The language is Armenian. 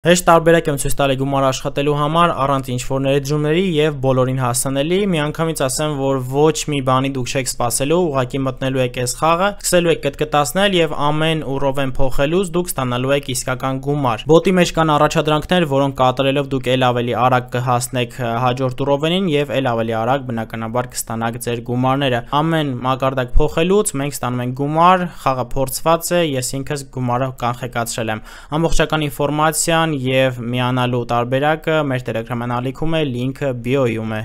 Հեշտ տարբերակ եմ ցույց տալի գումար աշխատելու համար առանց ինչ-որ ներդրումների եւ բոլորին հասանելի։ Միանգամից ասեմ, որ ոչ մի բանի դուք չեք սպասելու, ուղղակի մտնելու եք այս խաղը, սկսելու եք կտկտացնել եւ ամեն ուռովեն փոխելուց դուք ստանալու եք իսկական գումար։ Բոտի մեջ կան առաջադրանքներ, որոնք կատարելով դուք ել ավելի արագ կհասնեք հաջորդ ուռովենին եւ ել ավելի արագ բնականաբար կստանաք ձեր գումարները։ Ամեն մակարդակ փոխելուց մենք ստանում ենք գումար, խաղը փորձված է, ես ինքս գումարը կանխեկացրել եմ։ Ամբողջական ինֆորմացիան եւ միանալու տարբերակը մեր Telegram-ալիքում է, լինքը բիոյում է։